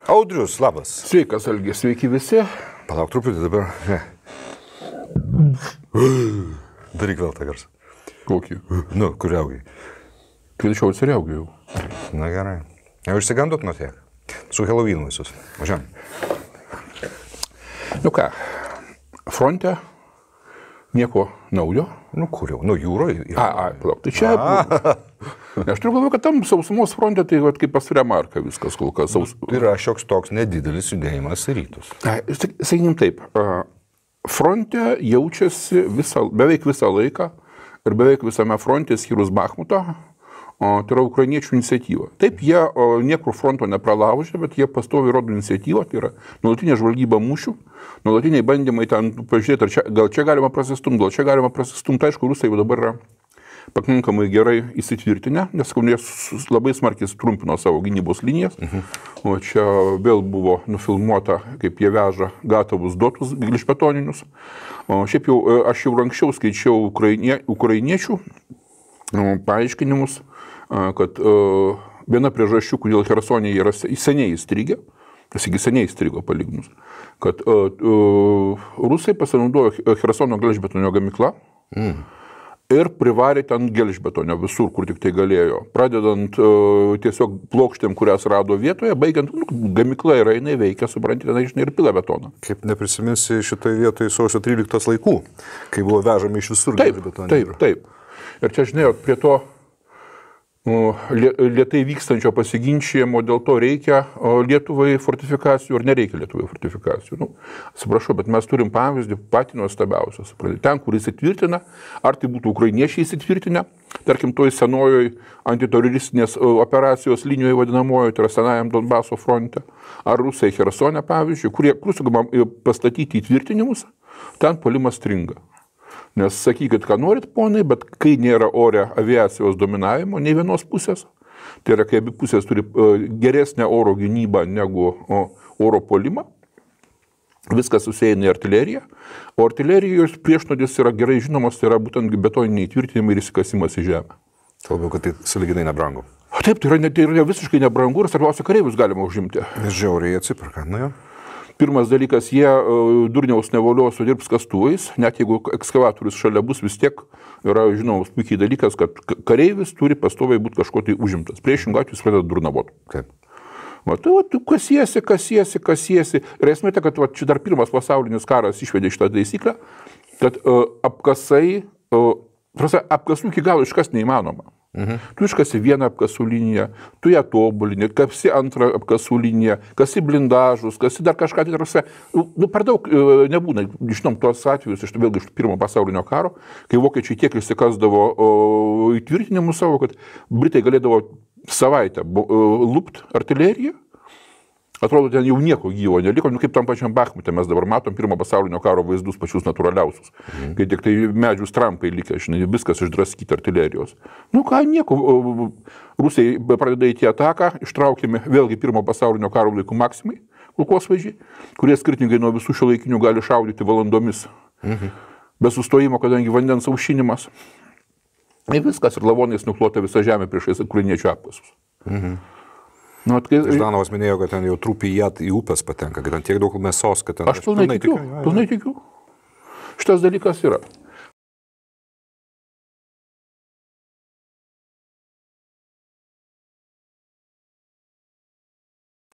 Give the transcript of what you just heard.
Audrius, labas. Sveikas, Algi, sveiki visi. Palauk truputį dabar. Daryk vėl tą garsą. Kokį? Nu, kur riaugiai? Kviečiau atsiriaugiau. Na gerai. Jau išsigandot nuo tiek. Su Helovynu visus. Važiuojam. Nu ką, fronte nieko naujo. Nu kur jau? Nu jūroje. Palauk, tai čia... Aš turiu galvoju, kad tam sausumos fronte tai kaip pas Remarką viskas kol kas. Yra šioks toks nedidelis judėjimas į rytus. Sakykim taip, fronte jaučiasi beveik visą laiką ir beveik visame fronte skyrus Bachmuto, tai yra ukrainiečių iniciatyva. Taip, jie niekur fronto nepralaužė, bet jie pastoviai rodo iniciatyvą, tai yra nuolatinė žvalgyba mūšių, nuolatiniai bandymai ten pažiūrėti, gal čia galima prasistumti, aišku, rusai jau dabar yra pakankamai gerai įsitvirtinę, nes jie labai smarkiai trumpino savo gynybos linijas, o čia vėl buvo nufilmuota, kaip jie veža gatavus dotus gelžbetoninius. Šiaip jau, aš jau anksčiau skaičiau ukrainiečių paaiškinimus, kad viena priežasčių, kodėl Chersone yra seniai įstrigę, seniai įstrigo palyginus, kad rusai pasinaudojo Chersono gelžbetonio gamykla ir privarė ten gelžbetonio visur, kur tik tai galėjo. Pradedant tiesiog plokštėm, kurias rado vietoje, baigiant, gamykla yra, jinai veikia, suprantate, žinai, ir pila betoną. Kaip neprisiminsi šitoje vietoje sausio 13 laikų, kai buvo vežami iš visur gelžbetonio. Taip. Ir čia, žinai, prie to lėtai vykstančio pasiginčijimo, dėl to reikia Lietuvai fortifikacijų ar nereikia Lietuvai fortifikacijų. Atsiprašau, bet mes turim pavyzdį patį nuostabiausias. Ten, kur įsitvirtina, ar tai būtų ukrainiečiai įsitvirtinę, tarkim, toj senojoj antiteroristinės operacijos linijoje vadinamojo, tai yra senajam Donbaso fronte, ar rusai Chersone, pavyzdžiui, kur sugama pastatyti įtvirtinimus, ten puolimas stringa. Nes sakykit, ką norit, ponai, bet kai nėra ore aviacijos dominavimo, nei vienos pusės, tai yra, kai abi pusės turi geresnę oro gynybą negu oro puolimą, viskas susieina į artileriją, o artilerijos priešnodis yra gerai žinomas, tai yra būtent betoniniai įtvirtinimai ir įsikasimas į žemę. Kalbėjau, kad tai sąlyginai nebrangu. Taip, tai yra visiškai nebrangu ir svarbiausia, kareivius galima užimti. Nes žiauriai atsiperka, na jo. Pirmas dalykas, jie durniaus nevolios sudirbs kastuvais, net jeigu ekskavatorius šalia bus, vis tiek yra žinomas puikiai dalykas, kad kareivis turi pastoviai būti kažko tai užimtas. Priešingų atveju jis pradeda durnavot. Taip. Tu kasiesi. Ir esmė ta, kad čia dar pirmas pasaulinis karas išvedė šitą taisyklę, kad apkasų iki galo iškast neįmanoma. Tu iškasi vieną apkasų liniją, tu ją tobulini, kasi antrą apkasų liniją, kasi blindažus, kasi dar kažką tai per daug nebūna. Žinom tuos atvejus, vėlgi iš pirmo pasaulinio karo, kai vokiečiai tiek išsikasdavo įtvirtinimus savo, kad britai galėdavo savaitę lupt artileriją. Atrodo, ten jau nieko gyvo neliko, kaip tam pačiam Bachmute mes dabar matom pirmo pasaulinio karo vaizdus pačius natūraliausius. Kai tik tai medžių strampai likę, žinai, viskas išdraskyti artilerijos. Nieko. Rusai pradeda įti ataką, ištraukiami vėlgi pirmo pasaulinio karo laikų Maksimai, kulkosvaidžiai, kurie skirtingai nuo visų šiuolaikinių gali šaudyti valandomis. Be sustojimo, kadangi vandens aušinimas. Ir viskas, ir lavonais nuklota visa žemė priešais ukrainiečių apkasus. Ždanovas minėjo, kad ten jau trupį į upės patenka, kad ten tiek daug mėsos, kad ten... Aš pilnai tikiu. Šitas dalykas yra.